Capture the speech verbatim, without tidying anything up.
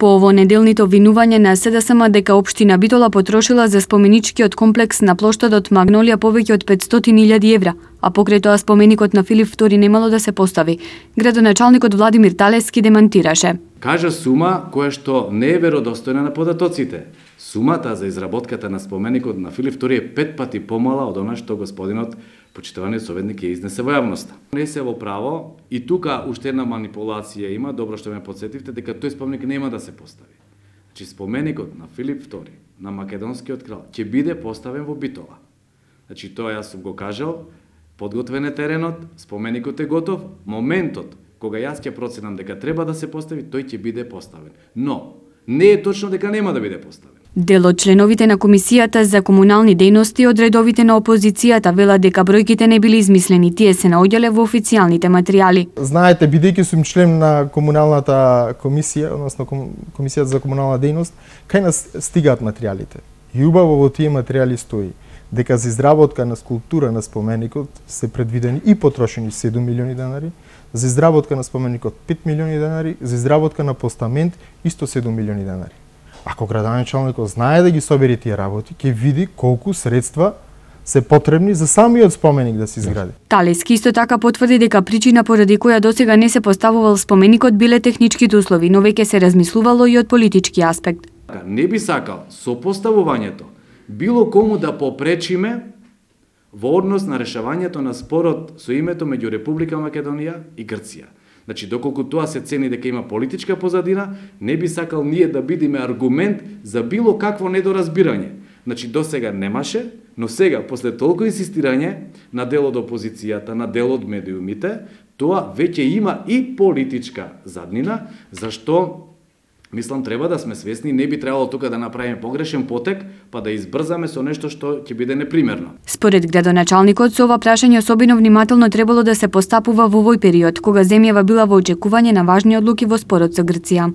По ово неделните обвинување на СДСМ дека општина Битола потрошила за споменичкиот комплекс на плоштадот Магнолија повеќе од петстотини илјади евра, а покрај тоа споменикот на Филип втори немало да се постави. Градоначалникот Владимир Талески демантираше. Кажа сума која што не е веродостојна на податоците. Сумата за изработката на споменикот на Филип втори е пет пати помала од она што господинот почитуваниот советник ја изнесе во јавноста. Не се во право и тука уште една манипулација има, добро што ме подсетивте дека тој споменик нема да се постави. Значи споменикот на Филип втори, на македонскиот крал, ќе биде поставен во Битола. Значи тоа јас сум го кажал, подготвен е теренот, споменикот е готов, моментот кога јас ќе проценам дека треба да се постави, тој ќе биде поставен. Но не е точно дека нема да биде поставен. Дел од членовите на Комисијата за комунални дејности од редовите на опозицијата велат дека бројките не били измислени, тие се наоѓале во официјалните материјали. Знаете, бидејќи сум член на комуналната комисија, односно Комисијата за комунална дејност, кај нас стигаат материјалите. И убаво во тие материјали стои дека за изработка на скулптура на споменикот се предвидени и потрошени седум милиони денари, за изработка на споменикот пет милиони денари, за изработка на постамент исто седум милиони денари. Ако градоначалникот знае да ги собери тие работи, ќе види колку средства се потребни за самиот споменик да се изгради. Талески исто така потврди дека причина поради која досега не се поставувал споменикот биле техничките услови, но веќе се размислувало и од политички аспект. Не би сакал со поставувањето било кому да попречиме во однос на решавањето на спорот со името меѓу Република Македонија и Грција. Значи, доколку тоа се цени дека има политичка позадина, не би сакал ние да бидиме аргумент за било какво недоразбирање. Значи, досега немаше, но сега, после толку инсистирање на дел од опозицијата, на дел од медиумите, тоа веќе има и политичка заднина, зашто мислам треба да сме свесни, не би требало тука да направиме погрешен потек, па да избрзаме со нешто што ќе биде непримерно. Според градоначалникот, со ова прашање особено внимателно требало да се постапува во овој период, кога земјава била во очекување на важни одлуки во спорот со Грција.